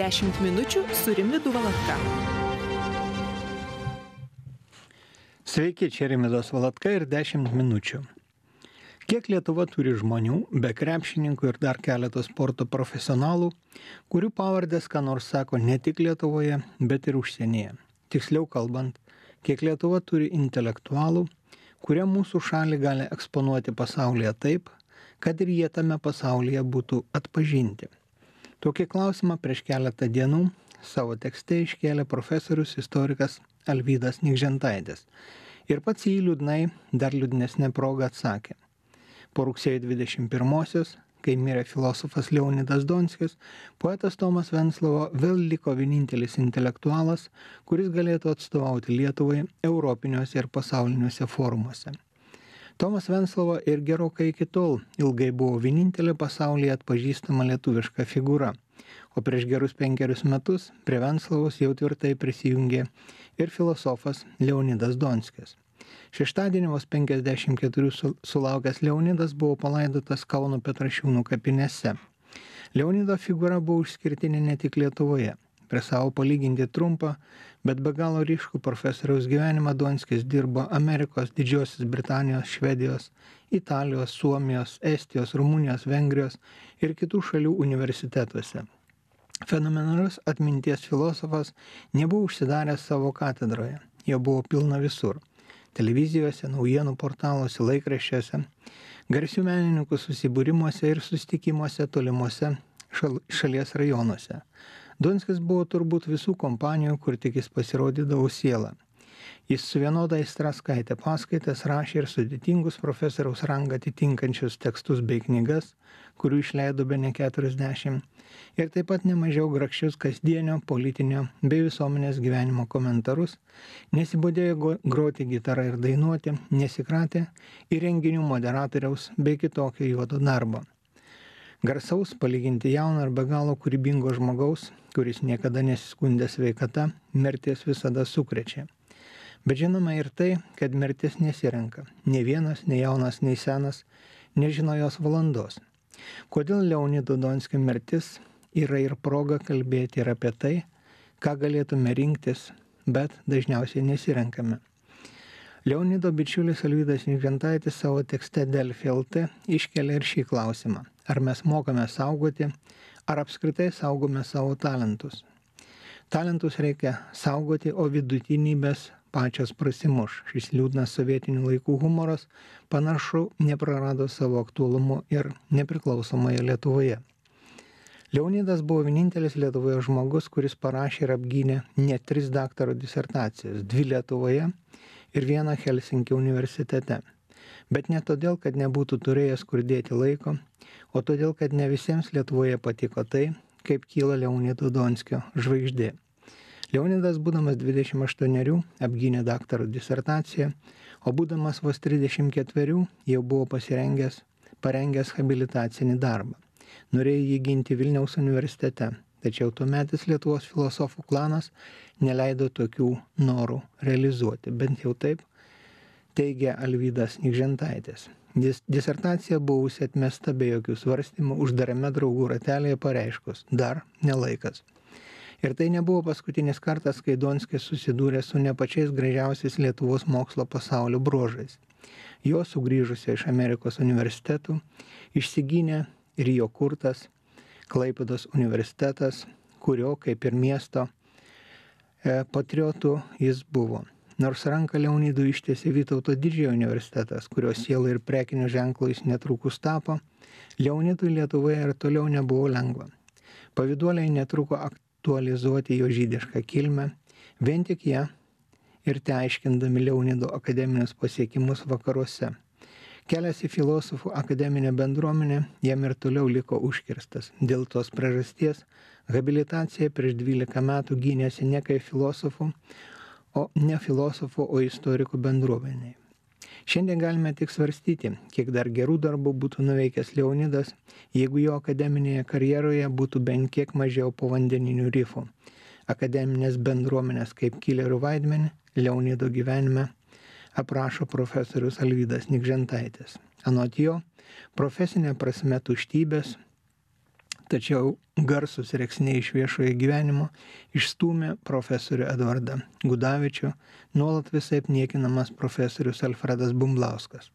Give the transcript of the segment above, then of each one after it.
10 minučių su Rimvydu Valatka. Sveiki, čia Rimvydas Valatka ir 10 minučių. Kiek Lietuva turi žmonių, be krepšininkų ir dar keletos sporto profesionalų, kurių pavardės ką nors sako ne tik Lietuvoje, bet ir užsienyje. Tiksliau kalbant, kiek Lietuva turi intelektualų, kurie mūsų šalį gali eksponuoti pasaulyje taip, kad ir jie tame pasaulyje būtų atpažinti. Tokį klausimą prieš keletą dienų savo tekste iškėlė profesorius istorikas Alvydas Nikžentaitis. Ir pats jį liūdnai, dar liūdnesnė proga atsakė. Po rugsėjo 21-osios, kai mirė filosofas Leonidas Donskis, poetas Tomas Venclova vėl liko vienintelis intelektualas, kuris galėtų atstovauti Lietuvai europiniuose ir pasauliniuose forumuose. Tomas Venclova ir gerokai iki tol ilgai buvo vienintelė pasaulyje atpažįstama lietuviška figūra, o prieš gerus 5 metus prie Venclovos jau tvirtai prisijungė ir filosofas Leonidas Donskis. Šeštadienį vos 54 sulaukęs Leonidas buvo palaidotas Kauno Petrašiūnų kapinėse. Leonido figūra buvo išskirtinė ne tik Lietuvoje. Prie savo palyginti trumpą, bet be galo ryškų profesoriaus gyvenimą Donskis dirbo Amerikos, Didžiosios Britanijos, Švedijos, Italijos, Suomijos, Estijos, Rumunijos, Vengrijos ir kitų šalių universitetuose. Fenomenalus atminties filosofas nebuvo užsidaręs savo katedroje, jo buvo pilna visur. Televizijose, naujienų portaluose, laikraščiuose, garsių menininkų susibūrimuose ir susitikimuose tolimuose šalies rajonuose. Donskis buvo turbūt visų kompanijų, kur tik jis pasirodydavo siela. Jis su vienoda aistra skaitė paskaitas, rašė ir sudėtingus profesoriaus rangą atitinkančius tekstus bei knygas, kurių išleido bene 40, ir taip pat nemažiau grakščius kasdienio, politinio bei visuomenės gyvenimo komentarus, nesibodėjo groti gitarą ir dainuoti, nesikratė į renginių moderatoriaus bei kitokio juodo darbo. Garsaus, palyginti jauno ir be galo kūrybingo žmogaus, kuris niekada nesiskundė sveikata, mirtis visada sukrečia. Bet žinoma ir tai, kad mirtis nesirenka. Nei vienas, nei jaunas, nei senas nežino jos valandos. Kodėl Leonido Donskio mirtis yra ir proga kalbėti ir apie tai, ką galėtume rinktis, bet dažniausiai nesirenkame. Leonido bičiulis Alvydas Nikžentaitis savo tekste Delfi LT iškelia ir šį klausimą. Ar mes mokame saugoti, ar apskritai saugome savo talentus? Talentus reikia saugoti, o vidutinybės pačios prasimuš. Šis liūdnas sovietinių laikų humoras panašu neprarado savo aktualumo ir nepriklausomoje Lietuvoje. Leonidas buvo vienintelis Lietuvoje žmogus, kuris parašė ir apgynė net 3 daktaro disertacijas, 2 Lietuvoje ir 1 Helsinkio universitete. Bet ne todėl, kad nebūtų turėjęs kur dėti laiko, o todėl, kad ne visiems Lietuvoje patiko tai, kaip kyla Leonido Donskio žvaigždė. Leonidas, būdamas 28, apgynė daktaro disertaciją, o būdamas vos 34 jau buvo parengęs habilitacinį darbą. Norėjo jį ginti Vilniaus universitete, tačiau tuometis Lietuvos filosofų klanas neleido tokių norų realizuoti, bent jau taip teigia Alvydas Nikžentaitis. Disertacija buvusi atmesta be jokių svarstymų uždarame draugų ratelėje pareiškus, dar nelaikas. Ir tai nebuvo paskutinis kartas, kai Donskis susidūrė su ne pačiais gražiausiais Lietuvos mokslo pasaulio bruožais. Jo sugrįžusio iš Amerikos universitetų išsigynė ir jo kurtas Klaipėdos universitetas, kurio, kaip ir miesto patriotų, jis buvo. Nors ranką Leonidui ištiesė Vytauto Didžiojo universitetas, kurio sielą ir prekinio ženklo jis netrukus tapo, Leonidui Lietuvoje ir toliau nebuvo lengva. Pavyduoliai netruko aktualizuoti jo žydišką kilmę, vien tik ją ir teaiškindami Leonido akademinius pasiekimus vakaruose. Kelias į filosofų akademinę bendruomenę jam ir toliau liko užkirstas. Dėl tos priežasties habilitaciją prieš 12 metų gynėsi ne kaip filosofų, o ne filosofų, o istorikų bendruomeniai. Šiandien galime tik svarstyti, kiek dar gerų darbų būtų nuveikęs Leonidas, jeigu jo akademinėje karjeroje būtų bent kiek mažiau povandeninių rifų. Akademinės bendruomenės kaip kilerių vaidmenį Leonido gyvenime aprašo profesorius Alvydas Nikžentaitis. Anot jo, profesinė prasme tuštybės tačiau garsus rėksniai iš viešojo gyvenimo išstūmė profesorių Edvardą Gudavičių, nuolat visaip niekinamas profesorius Alfredas Bumblauskas.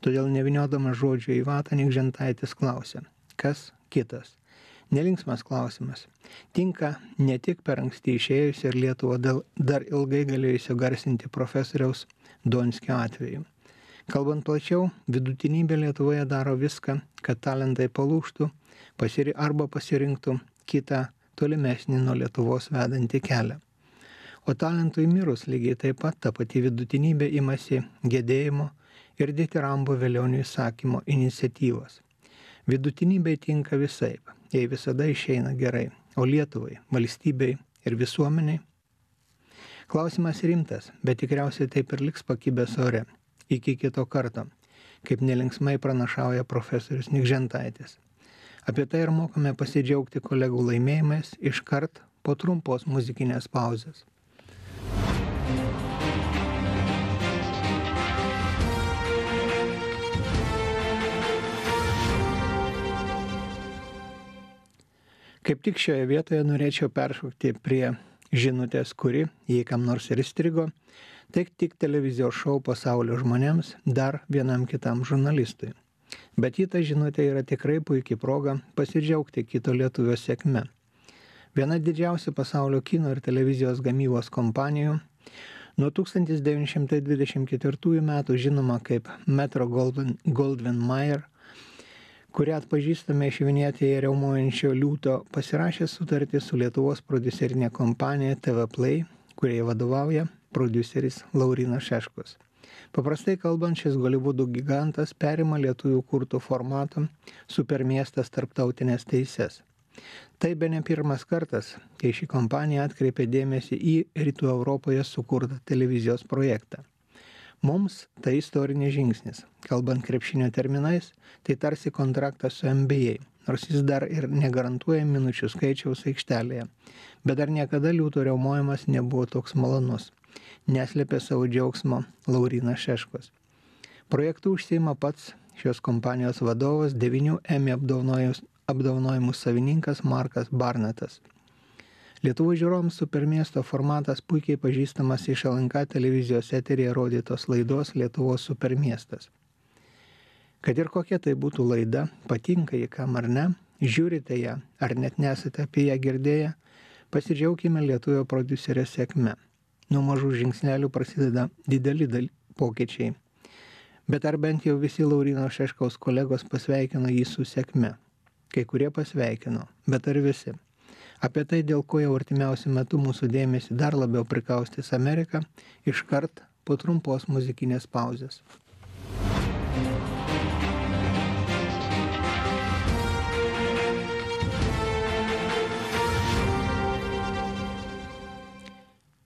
Todėl nevyniodamas žodžio į vatą Nikžentaitis klausė, kas kitas. Nelinksmas klausimas. Tinka ne tik per anksti išėjusio ir Lietuvą dar ilgai galėjusio garsinti profesoriaus Donskio atveju. Kalbant plačiau, vidutinybė Lietuvoje daro viską, kad talentai palūžtų arba pasirinktų kitą tolimesnį nuo Lietuvos vedantį kelią. O talentui mirus lygiai taip pat ta pati vidutinybė imasi gedėjimo ir ditirambo Velionių įsakymo iniciatyvos. Vidutinybei tinka visaip, jei visada išeina gerai, o Lietuvai, valstybei ir visuomeniai. Klausimas rimtas, bet tikriausiai taip ir liks pakibęs ore. Iki kito karto, kaip nelinksmai pranašauja profesorius Nikžentaitis. Apie tai ir mokame pasidžiaugti kolegų laimėjimais iškart po trumpos muzikinės pauzės. Kaip tik šioje vietoje norėčiau peršokti prie žinutės, kuri, jei kam nors ir įstrigo, tai tik televizijos šou pasaulio žmonėms, dar vienam kitam žurnalistui. Bet ta žinutė yra tikrai puikiai proga pasidžiaugti kito lietuvio sėkme. Viena didžiausių pasaulio kino ir televizijos gamybos kompanijų nuo 1924 metų žinoma kaip Metro-Goldwyn-Mayer, kurią atpažįstame iš Vinetėje riaumojančio liūto, pasirašė sutartį su Lietuvos prodiuserinė kompanija TV Play, kuriai vadovauja prodiuseris Laurynas Šeškus. Paprastai kalbant, šis Holivudo gigantas perima lietuvių kurtų formatą Supermiestas tarptautinės teises. Tai bene pirmas kartas, kai ši kompanija atkreipė dėmesį į Rytų Europoje sukurtą televizijos projektą. Mums tai istorinis žingsnis. Kalbant krepšinio terminais, tai tarsi kontraktas su NBA, nors jis dar ir negarantuoja minučių skaičiaus aikštelėje. Bet dar niekada liūto riaumojimas nebuvo toks malonus. Neslėpė savo džiaugsmo Laurynas Šeškus. Projektu užsiima pats šios kompanijos vadovas, 9 Emmy apdovanojimų savininkas Markas Barnetas. Lietuvos žiūrovams Supermiesto formatas puikiai pažįstamas iš LNK televizijos eteryje rodytos laidos Lietuvos Supermiestas. Kad ir kokia tai būtų laida, patinka jį kam ar ne, žiūrite ją ar net nesate apie ją girdėję, pasidžiaugime lietuvio prodiuserio sėkme. Nuo mažų žingsnelių prasideda dideli pokyčiai. Bet ar bent jau visi Lauryno Šeškaus kolegos pasveikino jį su sėkme? Kai kurie pasveikino, bet ar visi? Apie tai, dėl ko jau artimiausiu metu mūsų dėmesį dar labiau prikaustys Amerika, iškart po trumpos muzikinės pauzės.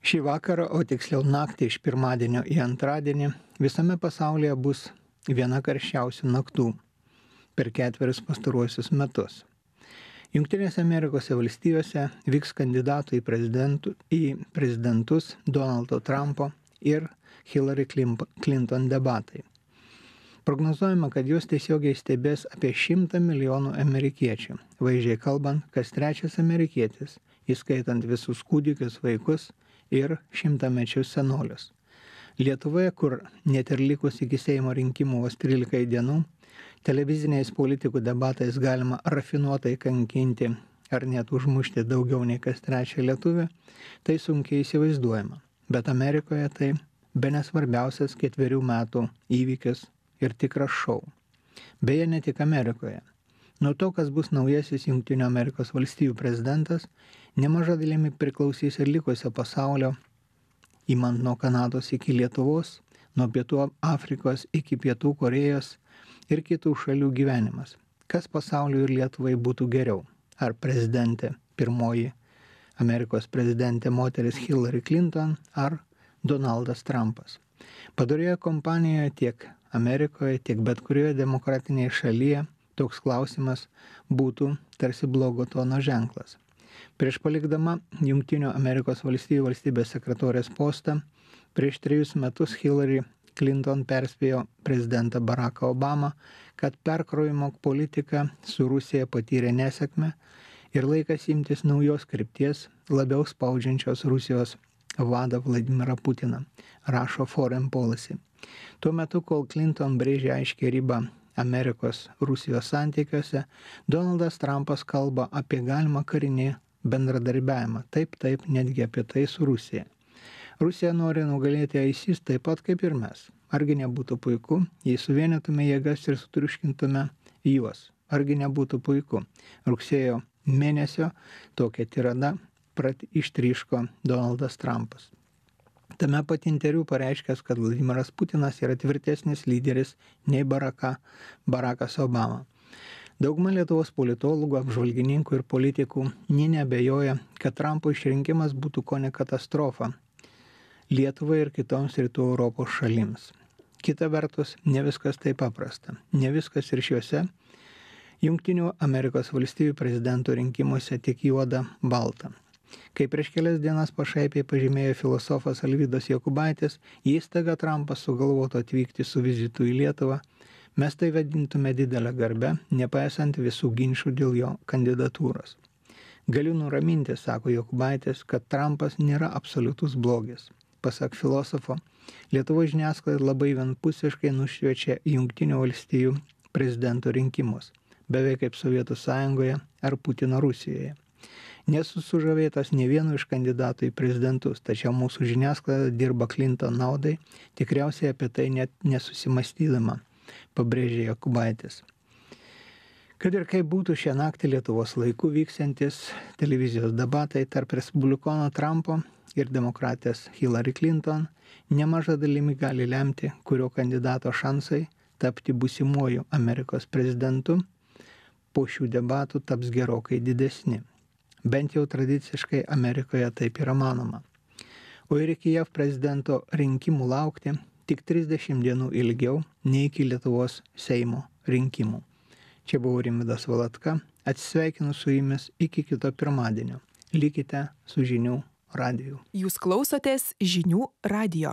Šį vakarą, o tiksliau naktį iš pirmadienio į antradienį, visame pasaulyje bus viena karščiausių naktų per 4 pastaruosius metus. Jungtinėse Amerikos valstijose vyks kandidatų į prezidentus Donaldo Trumpo ir Hillary Clinton debatai. Prognozuojama, kad juos tiesiogiai stebės apie 100 milijonų amerikiečių. Vaizdžiai kalbant, kas trečias amerikietis, įskaitant visus kūdikius, vaikus ir 100-mečius senolius. Lietuvoje, kur net ir likus iki Seimo rinkimų vos 13 dienų, televiziniais politikų debatais galima rafinuotai kankinti ar net užmušti daugiau nei kas trečią lietuvį, tai sunkiai įsivaizduojama. Bet Amerikoje tai bene svarbiausias 4 metų įvykis ir tikras šou. Beje, ne tik Amerikoje. Nuo to, kas bus naujasis Jungtinių Amerikos valstijų prezidentas, nemaža dalimi priklausys ir likusio pasaulio, imant nuo Kanados iki Lietuvos, nuo Pietų Afrikos iki Pietų Korėjos ir kitų šalių gyvenimas. Kas pasauliui ir Lietuvai būtų geriau? Ar prezidentė, pirmoji Amerikos prezidentė moteris Hillary Clinton, ar Donaldas Trumpas? Padorioje kompanijoje tiek Amerikoje, tiek bet kurioje demokratinėje šalyje toks klausimas būtų tarsi blogo tono ženklas. Prieš palikdama Jungtinių Amerikos valstijų valstybės sekretorės postą, prieš 3 metus Hillary Clinton perspėjo prezidentą Baracką Obamą, kad perkrojimo politika su Rusija patyrė nesėkmę ir laikas imtis naujos krypties, labiau spaudžiančios Rusijos vadą Vladimirą Putiną, rašo Foreign Policy. Tuo metu, kol Clinton brėžė aiškiai ribą Amerikos-Rusijos santykiuose, Donaldas Trumpas kalba apie galimą karinį bendradarbiavimą, taip, netgi apie tai su Rusija. Rusija nori nugalėti ISIS taip pat kaip ir mes. Argi nebūtų puiku, jei suvienytume jėgas ir sutriuškintume juos? Argi nebūtų puiku? Rugsėjo mėnesio tokią tiradą ištryško Donaldas Trumpas. Tame pat interviu pareiškęs, kad Vladimiras Putinas yra tvirtesnis lyderis nei Barackas Obama. Dauguma Lietuvos politologų, apžvalgininkų ir politikų neabejoja, kad Trumpo išrinkimas būtų kone katastrofa Lietuvai ir kitoms rytų Europos šalims. Kita vertus, ne viskas taip paprasta. Ne viskas ir šiuose Jungtinių Amerikos valstijų prezidento rinkimuose tik juoda balta. Kai prieš kelias dienas pašaipiai pažymėjo filosofas Alvydas Jokubaitis, jei staiga Trumpas sugalvotų atvykti su vizitu į Lietuvą, mes tai vadintume didelę garbę, nepaisant visų ginčių dėl jo kandidatūros. Galiu nuraminti, sako Jokubaitis, kad Trumpas nėra absoliutus blogis. Pasak filosofo, Lietuvos žiniasklaida labai vienpusiškai nušviečia Jungtinių valstijų prezidento rinkimus, beveik kaip Sovietų Sąjungoje ar Putino Rusijoje. Nesu sužavėtas ne vienu iš kandidatų į prezidentus, tačiau mūsų žiniasklaida dirba Clinton naudai, tikriausiai apie tai net nesusimastydama, pabrėžė Jokubaitis. Kad ir kaip būtų šią naktį Lietuvos laiku vyksiantis televizijos debatai tarp respublikono Trumpo ir demokratės Hillary Clinton, nemaža dalimi gali lemti, kurio kandidato šansai tapti būsimuoju Amerikos prezidentu po šių debatų taps gerokai didesni. Bent jau tradiciškai Amerikoje taip yra manoma. O ir iki JAV prezidento rinkimų laukti tik 30 dienų ilgiau nei iki Lietuvos Seimo rinkimų. Čia buvo Rimvydas Valatka, atsisveikinu su jumis iki kito pirmadienio. Likite su Žinių radiju. Jūs klausotės Žinių radijo.